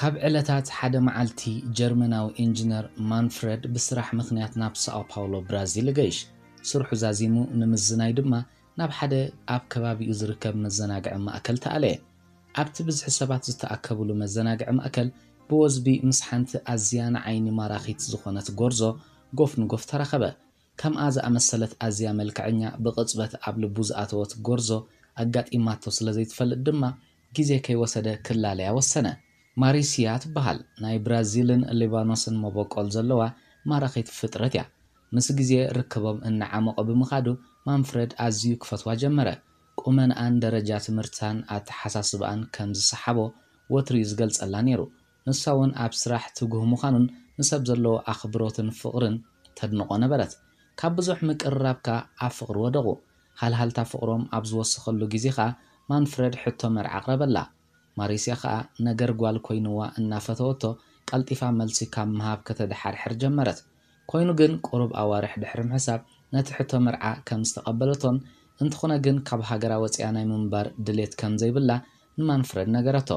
ካብ ዕለታት ሓደ መዓልቲ፣ ጀርመናዊ ኢንጂነር ማንፍረድ ብስራሕ ምኽንያት ናብ ሳኦ ፓውሎ፣ ብራዚል፣ ይገይሽ። ስርሑ ዛዚሙ ንምዝናይ ድማ ናብ ሓደ ኣብ ከባቢኡ ዝርከብ መዘናግዒ ማእከል ተኣለየ። ኣብቲ ብዝሒ ሰባት ዝተኣከብሉ መዘናግዒ ማእከል፣ ብወዝቢ ምስ ሓንቲ ኣዝያ ንዓይኒ ማራኺት ዝኾነት ጎርዞ ጎፍ ንጎፍ ተራኸበ። ከምኣ ዝኣመሰለት ኣዝያ መልክዐኛ፣ ብቕጽበት ኣብ ልቡ ዝኣተወት ጎርዞ ኣጋጢማቶ ስለ ዘይትፈልጥ ድማ፣ ግዜ ከይወሰደ ክላለያ ወሰነ። ማሪስያ ትበሃል። ናይ ብራዚልን ሊባኖስን መበቆል ዘለዋ ማራኺት ፍጥረት እያ። ምስ ግዜ ርክቦም እናዓመቖ ብምኻዱ፣ ማንፍረድ ኣዝዩ ክፈትዋ ጀመረ። ቁመንኣን ደረጃ ትምህርታን ኣተሓሳስባኣን ከም ዝሰሓቦ ወትሩ እዩ ዝገልጸላ ነይሩ። ንሳ እውን ኣብ ስራሕ ትጉህ ምዃኑን ንሰብ ዘለዎ ኣኽብሮትን ፍቕርን ተድንቖ ነበረት። ካብ ብዙሕ ምቅርራብ ከኣ ኣብ ፍቕሪ ወደቑ። ሃልሃልታ ፍቕሮም ኣብ ዝወሰኸሉ ግዜ ኸኣ፣ ማንፍረድ ሕቶ መርዓ ኣቕረበላ። ማሪስያ ኸኣ ነገር ጓል ኮይንዋ እናፈተወቶ፣ ቀልጢፋ መልሲ ካብ ምሃብ ከተድሓርሕር ጀመረት። ኮይኑ ግን፣ ቁሩብ ኣዋርሕ ድሕሪ ምሕሳብ፣ ነቲ ሕቶ መርዓ ከም ዝተቐበለቶን፣ እንተኾነ ግን ካብ ሃገራ ወጺኣ ናይ ምንባር ድሌት ከም ዘይብላ ንማንፍረድ ነገረቶ።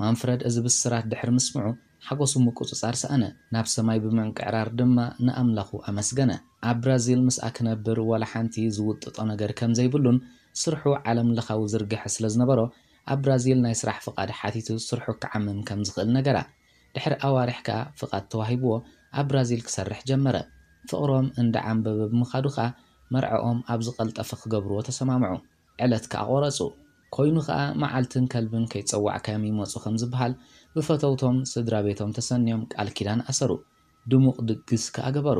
ማንፍረድ እዚ ብስራት ድሕሪ ምስምዑ፣ ሓጎሱ ምቁጽጻር ሰኣነ። ናብ ሰማይ ብምንቅዕራር ድማ ንኣምላኹ ኣመስገነ። ኣብ ብራዚል ምስኣ ክነብር ዋላ ሓንቲ ዝውጥጦ ነገር ከም ዘይብሉን፣ ስርሑ ዓለም ለኻዊ ዝርግሐ ስለ ዝነበሮ፣ ኣብ ብራዚል ናይ ስራሕ ፍቓድ ሓቲቱ ስርሑ ክዓምም ከም ዝኽእል ነገራ። ድሕሪ ኣዋርሕ ከኣ ፍቓድ ተዋሂብዎ ኣብ ብራዚል ክሰርሕ ጀመረ። ፍቕሮም እንዳዓምበበ ብምኻዱ ከኣ መርዕኦም ኣብ ዝቐልጠፈ ክገብርዎ ተሰማምዑ። ዕለት ከኣ ቆረጹ። ኮይኑ ከኣ መዓልትን ከልብን ከይጸዋዕካዮም ይመጹ ከም ዝበሃል፣ ብፈተውቶም ስድራ ቤቶም ተሰንዮም ቃል ኪዳን ኣሰሩ። ድሙቕ ድግስ ከኣ ገበሩ።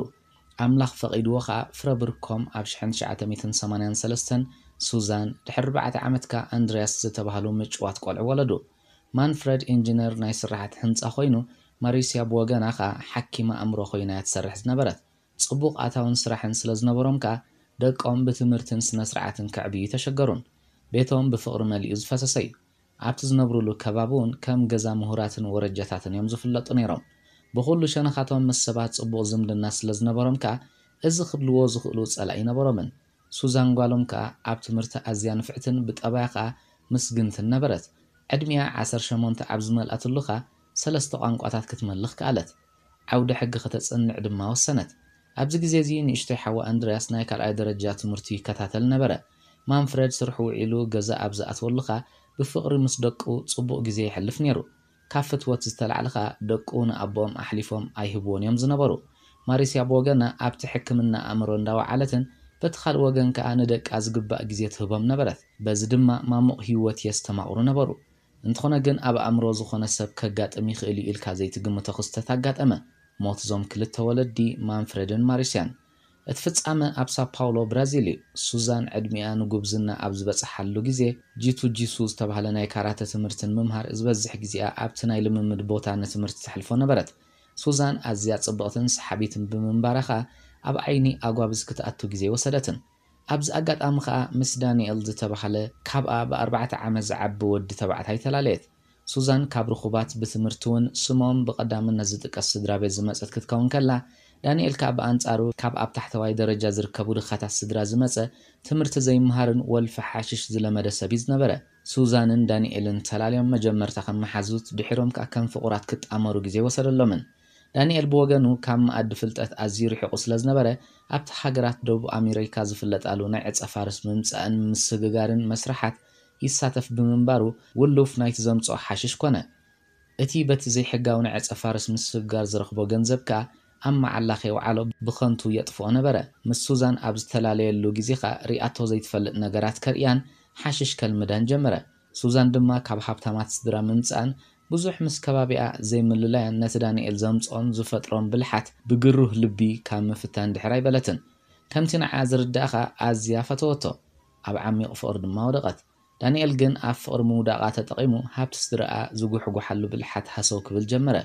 ኣምላኽ ፈቒድዎ ከኣ ፍረ ብርኮም ኣብ ሽሕን ትሽዓተ ሚእትን ሰማንያን ሰለስተን ሱዛን፣ ድሕሪ ኣርባዕተ ዓመት ከኣ ኣንድርያስ ዝተባህሉ ምጭዋት ቆልዑ ወለዱ። ማንፍረድ ኢንጂነር ናይ ስራሓት ህንጻ ኮይኑ፣ ማሪስያ ብወገና ከኣ ሓኪም ኣእምሮ ኮይና እያ ትሰርሕ ዝነበረት። ጽቡቕ ኣታውን ስራሕን ስለ ዝነበሮም ከኣ፣ ደቆም ብትምህርትን ስነ-ስርዓትን ከዕብዩ ኣይተሸገሩን። ቤቶም ብፍቕሪ መሊኡ ዝፈሰሰ እዩ። ኣብቲ ዝነብሩሉ ከባቢ እውን ከም ገዛ ምሁራትን ወረጃታትን እዮም ዝፍለጡ ነይሮም። ብኹሉ ሸነኻቶም ምስ ሰባት ጽቡቕ ዝምድና ስለ ዝነበሮም ከኣ፣ እዚ ክብልዎ ዝኽእሉ ጸላኢ ኣይነበሮምን። ሱዛን ጓሎም ከኣ ኣብ ትምህርቲ ኣዝያ ንፍዕትን ብጠባያ ከኣ ምስግንትን ነበረት። ዕድሚኣ ዓሰርተ ሸሞንተ ኣብ ዝመልኣትሉ ከኣ ሰለስተ ቋንቋታት ክትመልኽ ከኣለት። ዓውደ ሕጊ ከተጽንዕ ድማ ወሰነት። ኣብዚ ግዜ እዚ ንእሽቶይ ሓዋ ኣንድርያስ ናይ ካልኣይ ደረጃ ትምህርቱ ይከታተል ነበረ። ማንፍረድ ስርሑ ውዒሉ ገዛ ኣብ ዝኣትወሉ ከኣ ብፍቕሪ ምስ ደቁ ጽቡቕ ግዜ የሕልፍ ነይሩ። ካብ ፍትወት ዝተላዕለ ከኣ ደቁ ንኣቦኦም ኣሕሊፎም ኣይህብዎን እዮም ዝነበሩ። ማሪስያ ብወገና ኣብቲ ሕክምና ኣእምሮ እንዳወዓለትን በቲ ካልእ ወገን ከኣ ንደቃ ዝግባእ ግዜ ትህቦም ነበረት። በዚ ድማ ማሙቕ ህይወት የስተማቕሩ ነበሩ። እንተኾነ ግን ኣብ ኣእምሮ ዝኾነ ሰብ ከጋጥም ይኽእል እዩ ኢልካ ዘይትግምቶ ክስተት ኣጋጠመ። ሞት እዞም ክልተ ወለዲ ማንፍሬድን ማሪስያን። እቲ ፍጻመ ኣብ ሳፓውሎ ብራዚል እዩ። ሱዛን ዕድሚኣ ንጉብዝና ኣብ ዝበጽሓሉ ግዜ ጂቱ ጂሱ ዝተባህለ ናይ ካራተ ትምህርትን ምምሃር ዝበዝሕ ግዜኣ ኣብቲ ናይ ልምምድ ቦታ ንትምህርቲ ተሕልፎ ነበረት። ሱዛን ኣዝያ ጽብቕትን ሰሓቢትን ብምንባራ ኸኣ ኣብ ዓይኒ ኣጓብዝ ክትኣቱ ግዜ ወሰደትን። ኣብዚ ኣጋጣሚ ኸኣ ምስ ዳንኤል ዝተባህለ ካብኣ ብኣርባዕተ ዓመት ዝዓቢ ወዲ ተባዕታይ ተላለየት። ሱዛን ካብ ርኹባት ብትምህርቲ እውን ስሞም ብቐዳምነት ዝጥቀስ ስድራ ቤት ዝመጸት ክትከውን ከላ፣ ዳንኤል ከኣ ብኣንጻሩ ካብ ኣብ ታሕተዋይ ደረጃ ዝርከቡ ድኻታት ስድራ ዝመጸ ትምህርቲ ዘይምሃርን ወልፊ ሓሽሽ ዝለመደ ሰብ እዩ ዝነበረ። ሱዛንን ዳንኤልን ተላልዮም መጀመርታ ከም መሓዙት ድሒሮም ከኣ ከም ፍቑራት ክጣመሩ ግዜ ወሰደሎምን። ዳንኤል ብወገኑ ካብ መኣዲ ፍልጠት ኣዝዩ ርሒቑ ስለ ዝነበረ ኣብቲ ሃገራት ደቡብ ኣሜሪካ ዝፍለጣሉ ናይ ዕጸ ፋርስ ምምጻእን ምስግጋርን መስርሓት ይሳተፍ ብምንባሩ ውሉፍ ናይቲ ዘምጽኦ ሓሽሽ ኮነ። እቲ በቲ ዘይሕጋዊ ናይ ዕጸ ፋርስ ምስግጋር ዝረኽቦ ገንዘብ ከኣ ኣብ መዓላ ከየውዓሎ ብኸንቱ የጥፍኦ ነበረ። ምስ ሱዛን ኣብ ዝተፈላለየሉ ግዜ ከኣ ሪኣቶ ዘይትፈልጥ ነገራት ከርእያን ሓሽሽ ከልምዳን ጀመረ። ሱዛን ድማ ካብ ሃብታማት ስድራ ምምጻእን ብዙሕ ምስ ከባቢኣ ዘይምልላያን ነቲ ዳንኤል ዘምጽኦን ዝፈጥሮን ብልሓት ብግሩህ ልቢ ካብ ምፍታን ድሕር ኣይበለትን። ከምቲ ንዓኣ ዝርድኣ ከኣ ኣዝያ ፈተወቶ። ኣብ ዓሚቕ ፍቕሪ ድማ ወደቐት። ዳንኤል ግን ኣብ ፍቕሪ ምውዳቓ ተጠቒሙ ሃብቲ ስድራኣ ዝጉሕጉሓሉ ብልሓት ሃሰው ክብል ጀመረ።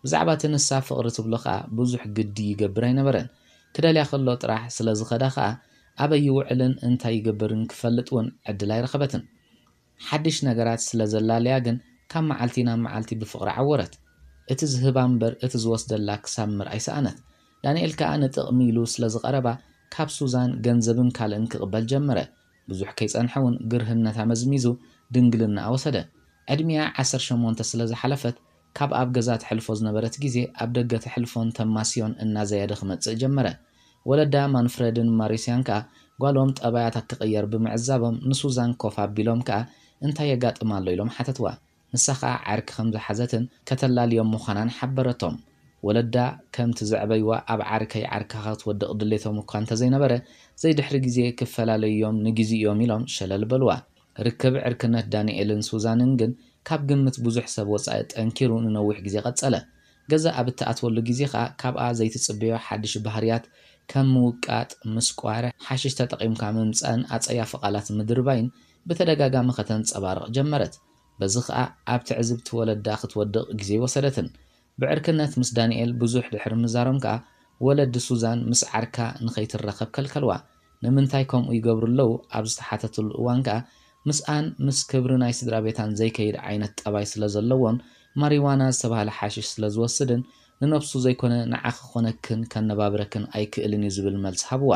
ብዛዕባ እቲ ንሳ ፍቕሪ ትብሎ ከኣ ብዙሕ ግዲ ይገብር ኣይነበረን። ክደልያ ከሎ ጥራሕ ስለ ዝኸዳ ከኣ ኣበይ ይውዕልን እንታይ ይገብርን ክፈልጥ እውን ዕድል ኣይረኸበትን። ሓድሽ ነገራት ስለ ዘላለያ ግን ካብ መዓልቲ ናብ መዓልቲ ብፍቕሪ ዓወረት። እቲ ዝህባ እምበር እቲ ዝወስደላ ክሳምር ኣይሰኣነት። ዳንኤል ከኣ ንጥቕሚ ኢሉ ስለ ዝቐረባ ካብ ሱዛን ገንዘብን ካልእን ክቕበል ጀመረ። ብዙሕ ከይጸንሐ እውን ግርህነታ መዝሚዙ ድንግልናኣ ወሰደ። ዕድሚኣ ዓሰርተ ሸሞንተ ስለ ዝሓለፈት ካብ ኣብ ገዛ ተሕልፎ ዝነበረት ግዜ ኣብ ደገ ተሕልፎን ተማስዮን እናዘየደ ክመጽእ ጀመረ። ወለዳ ማንፍረድን ማሪስያን ከኣ ጓሎም ጠባያታ ክቕየር ብምዕዛቦም ንሱዛን ኮፍ ኣቢሎም ከኣ እንታይ የጋጥም ኣሎ ኢሎም ሓተትዋ። ንሳ ከኣ ዓርኪ ከም ዝሓዘትን ከተላልዮም ምዃናን ሓበረቶም። ወለዳ ከምቲ ዘዕበይዋ ኣብ ዓርከይ ዓርክኻ ክትወድቕ ድሌቶም እኳ እንተዘይነበረ ዘይድሕሪ ግዜ ክፈላለዩ እዮም ንግዜ እዮም ኢሎም ሸለል በልዋ። ርክብ ዕርክነት ዳንኤልን ሱዛንን ግን ካብ ግምት ብዙሕ ሰብ ወጻኢ ጠንኪሩ ንነዊሕ ግዜ ቀጸለ። ገዛ ኣብ እትኣትወሉ ግዜ ከኣ ካብኣ ዘይትጽበዮ ሓድሽ ባህርያት ከም ምውቃጥ፣ ምስቋር፣ ሓሽሽ ተጠቒምካ ምምጻእን ኣጸያፊ ቃላት ምድርባይን ብተደጋጋሚ ከተንጸባርቕ ጀመረት። በዚ ከኣ ኣብ ትዕዝብቲ ወለዳ ክትወድቕ ግዜ ኣይወሰደትን። ብዕርክነት ምስ ዳንኤል ብዙሕ ድሕሪ ምዛሮም ከኣ ወለዲ ሱዛን ምስ ዓርካ ንኸይትራኸብ ከልከልዋ። ንምንታይ ከምኡ ይገብሩ ኣለዉ ኣብ ዝተሓተትሉ እዋን ከኣ ምስኣን ምስ ክብሪ ናይ ስድራ ቤታን ዘይከይድ ዓይነት ጠባይ ስለ ዘለዎን ማሪዋና ዝተባህለ ሓሽሽ ስለ ዝወስድን ንነብሱ ዘይኮነ ንዓኺ ክኾነክን ከነባብረክን ኣይክእልን እዩ ዝብል መልሲ ሃብዋ።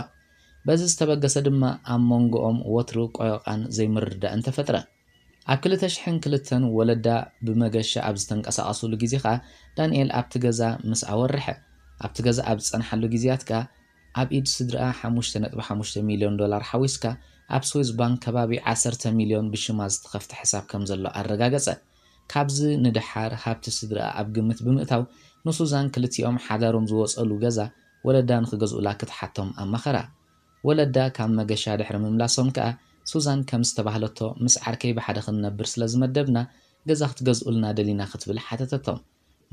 በዚ ዝተበገሰ ድማ ኣብ መንጎኦም ወትሩ ቆዮቓን ዘይምርድዳእን ተፈጥረ። ኣብ ክልተ ሽሕን ክልተን ወለዳ ብመገሻ ኣብ ዝተንቀሳቐሱሉ ግዜ ከኣ ዳንኤል ኣብቲ ገዛ ምስ ኣወርሐ ኣብቲ ገዛ ኣብ ዝጸንሓሉ ግዜያት ከኣ ኣብ ኢድ ስድርኣ ሓሙሽተ ነጥቢ ሓሙሽተ ሚልዮን ዶላር ሓዊስካ ኣብ ስዊዝ ባንክ ከባቢ ዓሰርተ ሚልዮን ብሽማ ዝተኸፍተ ሕሳብ ከም ዘሎ ኣረጋገጸ። ካብዚ ንደሓር ሃብቲ ስድርኣ ኣብ ግምት ብምእታው ንሱዛን ክልቲኦም ሓዳሮም ዝወጸሉ ገዛ ወለዳ ንኽገዝኡላ ክትሓቶም ኣማኸራ። ወለዳ ካብ መገሻ ድሕሪ ምምላሶም ከኣ ሱዛን ከም ዝተባህለቶ ምስ ዓርከይ ብሓደ ክንነብር ስለ ዝመደብና ገዛ ክትገዝኡልና ደሊና ክትብል ሓተተቶም።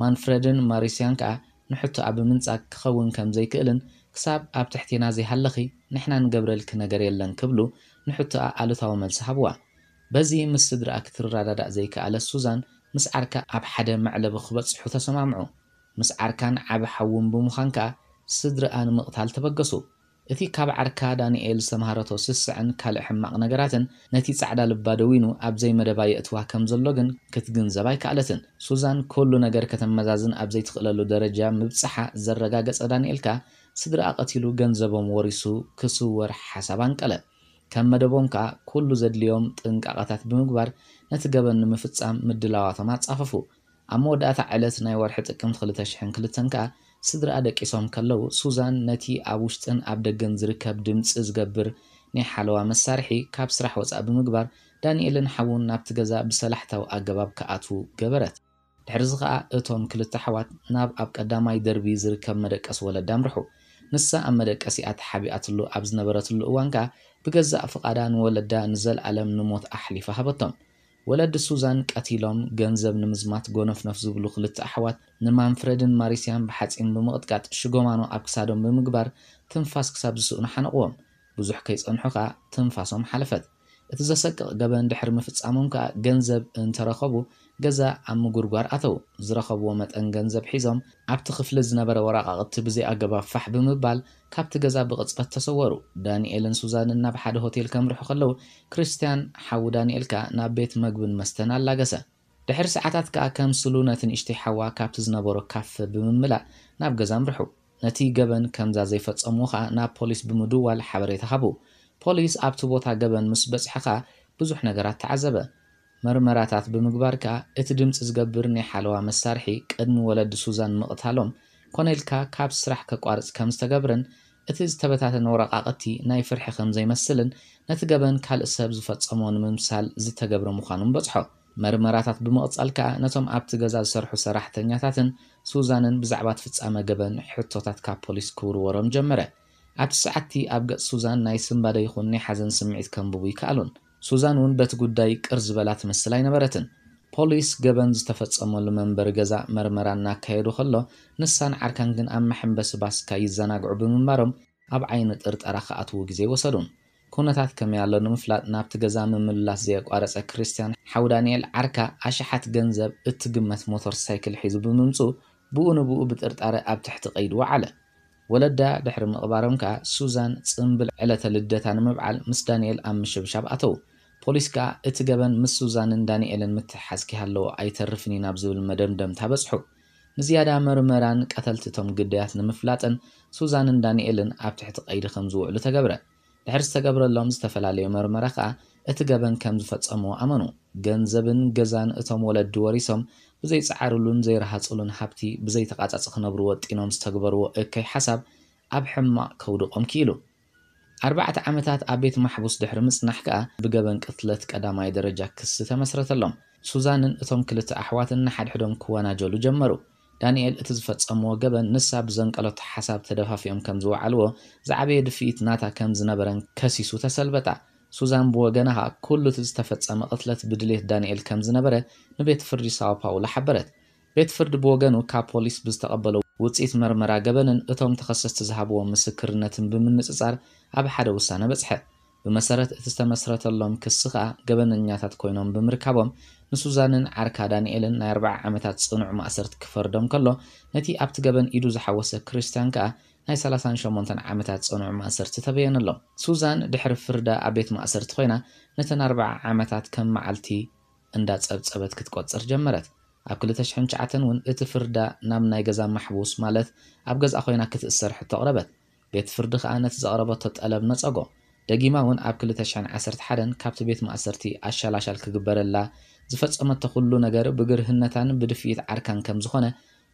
ማንፍረድን ማሪስያን ከኣ ንሕቶኣ ብምንጻግ ክኸውን ከም ዘይክእልን ክሳብ ኣብ ትሕቴና ዘይሃለኺ ንሕና ንገብረልኪ ነገር የለን ክብሉ ንሕቶኣ ኣሉታዊ መልሲ ሃብዋ። በዚ ምስ ስድርኣ ክትረዳዳእ ዘይከኣለት ሱዛን ምስ ዓርካ ኣብ ሓደ መዕለቢ ክበጽሑ ተሰማምዑ። ምስ ዓርካን ዓቢ ሓውን ብምዃን ከኣ ስድርኣ ንምቕታል ተበገሱ። እቲ ካብ ዓርካ ዳንኤል ዝተምሃረቶ ስስዐን ካልእ ሕማቕ ነገራትን ነቲ ጻዕዳ ልባ ደዊኑ ኣብ ዘይመደባ የእትዋ ከም ዘሎ ግን ክትግንዘብ ኣይከኣለትን። ሱዛን ኩሉ ነገር ከተመዛዝን ኣብ ዘይትኽእለሉ ደረጃ ምብጽሓ ዘረጋገጸ ዳንኤል ከኣ ስድርኣ ቀቲሉ ገንዘቦም ወሪሱ ክስወር ሓሳብ ኣንቀለ። ከም መደቦም ከኣ ኩሉ ዘድልዮም ጥንቃቐታት ብምግባር ነቲ ገበን ንምፍጻም ምድላዋቶም ኣጻፈፉ። ኣብ መወዳእታ ዕለት ናይ ወርሒ ጥቅምቲ ክልተ ሽሕን ክልተን ከኣ ስድርኣ ደቂሶም ከለዉ ሱዛን ነቲ ኣብ ውሽጥን ኣብ ደገን ዝርከብ ድምጺ ዝገብር ናይ ሓለዋ መሳርሒ ካብ ስራሕ ወጻእ ብምግባር ዳንኤልን ሓውን ናብቲ ገዛ ብሰላሕታዊ ኣገባብ ክኣትዉ ገበረት። ድሕርዚ ከኣ እቶም ክልተ ኣሕዋት ናብ ኣብ ቀዳማይ ደርቢ ዝርከብ መደቀሲ ወለዳ ኣምርሑ። ንሳ ኣብ መደቀሲኣ ተሓቢኣትሉ ኣብ ዝነበረትሉ እዋን ከኣ ብገዛእ ፍቓዳ ንወለዳ ንዘልኣለም ንሞት ኣሕሊፋ ሃበቶም። ወለዲ ሱዛን ቀቲሎም ገንዘብ ንምዝማት ጎነፍነፍ ዝብሉ ክልተ ኣሕዋት ንማንፍረድን ማሪስያን ብሓጺን ብምቕጥቃጥ ሽጎማኖ ኣብ ክሳዶም ብምግባር ትንፋስ ክሳብ ዝስእኑ ሓነቕዎም። ብዙሕ ከይጸንሑ ከኣ ትንፋሶም ሓለፈት። እቲ ዘሰቅቕ ገበን ድሕሪ ምፍጻሞም ከኣ ገንዘብ እንተረኸቡ ገዛ ኣብ ምጉርጓር ኣተዉ። ዝረኸብዎ መጠን ገንዘብ ሒዞም ኣብቲ ክፍሊ ዝነበረ ወረቓቕቲ ብዘይ ኣገባብ ፋሕ ብምባል ካብቲ ገዛ ብቕጽበት ተሰወሩ። ዳንኤልን ሱዛንን ናብ ሓደ ሆቴል ከምርሑ ከለዉ ክርስትያን ሓዉ ዳንኤል ከኣ ናብ ቤት መግብን መስተን ኣላገሰ። ድሕሪ ሰዓታት ከኣ ከምስሉ ነቲ ንእሽተይ ሓዋ ካብቲ ዝነበሮ ካፈ ብምምላእ ናብ ገዛ ኣምርሑ። ነቲ ገበን ከምዛ ዘይፈጸምዎ ከኣ ናብ ፖሊስ ብምድዋል ሓበሬታ ሃቡ። ፖሊስ ኣብቲ ቦታ ገበን ምስ በጽሐ ከኣ ብዙሕ ነገራት ተዓዘበ። መርመራታት ብምግባር ከኣ እቲ ድምጺ ዝገብር ናይ ሓለዋ መሳርሒ ቅድሚ ወለዲ ሱዛን ምቕታሎም ኮነ ኢልካ ካብ ስራሕ ከቋርጽ ከም ዝተገብረን እቲ ዝተበታተነ ወረቓቕቲ ናይ ፍርሒ ከም ዘይመስልን ነቲ ገበን ካልእ ሰብ ዝፈጸሞ ንምምሳል ዝተገብረ ምዃኑን በጽሖ። መርመራታት ብምቕጻል ከኣ ነቶም ኣብቲ ገዛ ዝሰርሑ ሰራሕተኛታትን ሱዛንን ብዛዕባ እቲ ፍጻመ ገበን ሕቶታት ካብ ፖሊስ ክውርወሮም ጀመረ። ኣብቲ ሰዓትቲ ኣብ ገጽ ሱዛን ናይ ስንባደ ይኹን ናይ ሓዘን ስምዒት ከንብቡ ይከኣሉን። ሱዛን እውን በቲ ጉዳይ ቅር ዝበላ ትመስል ኣይነበረትን። ፖሊስ ገበን ዝተፈጸመሉ መንበሪ ገዛ መርመራ እናካየዱ ከሎ ንሳን ዓርካን ግን ኣብ መሐንበሲ ባስካ ይዘናግዑ ብምንባሮም ኣብ ዓይኒ ጥርጠራ ክኣትዉ ግዜ ኣይወሰዱን። ኩነታት ከመይ ኣሎ ንምፍላጥ ናብቲ ገዛ ምምልላስ ዘየቋረጸ ክርስትያን ሓው ዳንኤል ዓርካ ኣሽሓት ገንዘብ እትግመት ሞተር ሳይክል ሒዙ ብምምጽኡ ብኡ ንብኡ ብጥርጣረ ኣብ ትሕቲ ቀይዲ ወዓለ። ወለዳ ድሕሪ ምቕባሮም ከኣ ሱዛን ጽምብል ዕለተ ልደታ ንምብዓል ምስ ዳንኤል ኣብ ምሽብሻብ ኣተዉ። ፖሊስ ከኣ እቲ ገበን ምስ ሱዛንን ዳንኤልን ምትሕሓዝ ከይሃለዎ ኣይተርፍን እዩ ናብ ዝብል መደምደምታ በጽሑ። ንዝያዳ መርመራን ቀተልቲ እቶም ግዳያት ንምፍላጥን ሱዛንን ዳንኤልን ኣብ ትሕቲ ቀይዲ ከም ዝውዕሉ ተገብረ። ድሕሪ ዝተገብረሎም ዝተፈላለየ መርመራ ከኣ እቲ ገበን ከም ዝፈጸምዎ ኣመኑ። ገንዘብን ገዛን እቶም ወለዲ ወሪሶም ብዘይጸዓሩሉን ዘይረሃጹሉን ሃብቲ ብዘይተቓጻጽ ክነብሩ ወጢኖም ዝተግበርዎ እከይ ሓሳብ ኣብ ሕማቕ ከውድቖም ክኢሉ። ኣርባዕተ ዓመታት ኣብ ቤት ማሕቡስ ድሕሪ ምጽናሕ ከኣ ብገበን ቅትለት ቀዳማይ ደረጃ ክሲ ተመስረተሎም። ሱዛንን እቶም ክልተ ኣሕዋትን ንሓድሕዶም ክወናጀሉ ጀመሩ። ዳንኤል እቲ ዝፈጸምዎ ገበን ንሳ ብዘንቀለቶ ሓሳብ ተደፋፊኦም ከም ዝወዓልዎ ዝዓበየ ድፍኢት ናታ ከም ዝነበረን ከሲሱ ተሰልበጣ። ሱዛን ብወገና ከኣ ኩሉ እቲ ዝተፈጸመ ቅትለት ብድሌት ዳንኤል ከም ዝነበረ ንቤት ፍርዲ ሳኦ ፓውሎ ሓበረት። ቤት ፍርዲ ብወገኑ ካብ ፖሊስ ብዝተቐበሎ ውጽኢት መርመራ ገበንን እቶም ተኸሰስቲ ዝሃብዎ ምስክርነትን ብምንጽጻር ኣብ ሓደ ውሳነ በጽሐ። ብመሰረት እቲ ዝተመስረተሎም ክሲ ከኣ ገበነኛታት ኮይኖም ብምርካቦም ንሱዛንን ዓርካ ዳንኤልን ናይ ኣርብዓ ዓመታት ጽኑዕ ማእሰርቲ ክፈርዶም ከሎ ነቲ ኣብቲ ገበን ኢዱ ዝሓወሰ ክርስቲያን ከኣ ናይ ሰላሳን ሸሞንተን ዓመታት ጽኑዕ ማእሰርቲ ተበየነሎም። ሱዛን ድሕሪ ፍርዳ ኣብ ቤት ማእሰርቲ ኮይና ነተን ኣርብዓ ዓመታት ከም መዓልቲ እንዳጸብጸበት ክትቆጽር ጀመረት። ኣብ ክልተ ሽሕን ትሽዓተን እውን እቲ ፍርዳ ናብ ናይ ገዛ ማሕቡስ ማለት ኣብ ገዝኣ ኮይና ክትእሰር ሕቶ ኣቕረበት። ቤት ፍርዲ ከኣ ነቲ ዘቕረበቶ ጠለብ ነጸጎ። ደጊማ እውን ኣብ ክልተ ሽሕን ዓሰርተ ሓደን ካብቲ ቤት ማእሰርቲ ኣሻላሻል ክግበረላ ዝፈጸመቶ ኩሉ ነገር ብግርህነታን ብድፍኢት ዓርካን ከም ዝኾነ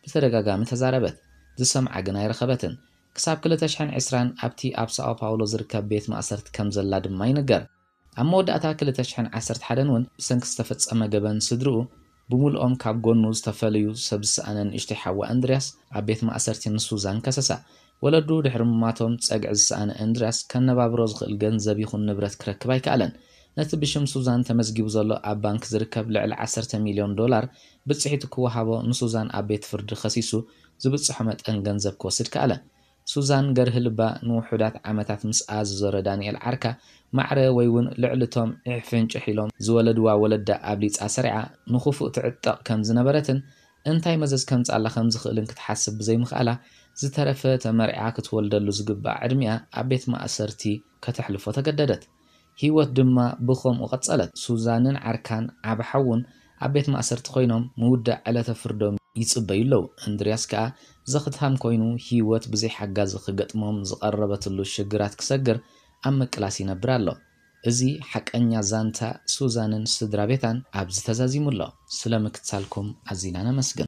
ብተደጋጋሚ ተዛረበት። ዝሰምዓ ግን ኣይረኸበትን። ክሳብ ክልተ ሽሕን ዕስራን ኣብቲ ኣብ ሳኦ ፓውሎ ዝርከብ ቤት ማእሰርቲ ከም ዘላ ድማ ይንገር። ኣብ መወዳእታ ክልተ ሽሕን ዓሰርተ ሓደን እውን ብሰንኪ ዝተፈጸመ ገበን ስድርኡ ብምልኦም ካብ ጎኑ ዝተፈለዩ ሰብ ዝሰኣነ ንእሽተይ ሓዋ እንድርያስ ኣብ ቤት ማእሰርቲ ንሱዛን ከሰሳ። ወለዱ ድሕሪ ምማቶም ጸግዒ ዝሰኣነ እንድርያስ ከነባብሮ ዝኽእል ገንዘብ ይኹን ንብረት ክረክብ ኣይከኣለን። ነቲ ብሽም ሱዛን ተመዝጊቡ ዘሎ ኣብ ባንክ ዝርከብ ልዕሊ ዓሰርተ ሚልዮን ዶላር ብጽሒቱ ክወሃቦ ንሱዛን ኣብ ቤት ፍርዲ ከሲሱ ዝብጽሖ መጠን ገንዘብ ክወስድ ከኣለ። ሱዛን ገርሂ ልባ ንውሑዳት ዓመታት ምስኣ ዝዞረ ዳንኤል ዓርካ ማዕረ ወይ እውን ልዕሊ እቶም ዒሕ ፍንጭሕ ኢሎም ዝወለድዋ ወለዳ ኣብሊጻ ሰሪዓ ንኽፉእ ትዕጠቕ ከም ዝነበረትን እንታይ መዘዝ ከምጽኣላ ከም ዝኽእልን ክትሓስብ ብዘይምኽኣላ ዝተረፈ ተመርዒዓ ክትወልደሉ ዝግባእ ዕድሚኣ ኣብ ቤት ማእሰርቲ ከተሕልፎ ተገደደት። ህይወት ድማ ብኸምኡ ቀጸለት። ሱዛንን ዓርካን ዓቢ ሓውን ኣብ ቤት ማእሰርቲ ኮይኖም ምውዳእ ዕለተ ፍርዶም ይጽበዩ ኣለዉ። እንድርያስ ከኣ ዘኽትሃም ኮይኑ ህይወት ብዘይ ሓጋዚ ክገጥሞም ዝቐረበትሉ ሽግራት ክሰግር ኣብ ምቅላስ ይነብር ኣሎ። እዚ ሓቀኛ ዛንታ ሱዛንን ስድራ ቤታን ኣብዚ ተዛዚሙ ኣሎ። ስለ ምክትታልኩም ኣዚና ነመስግን።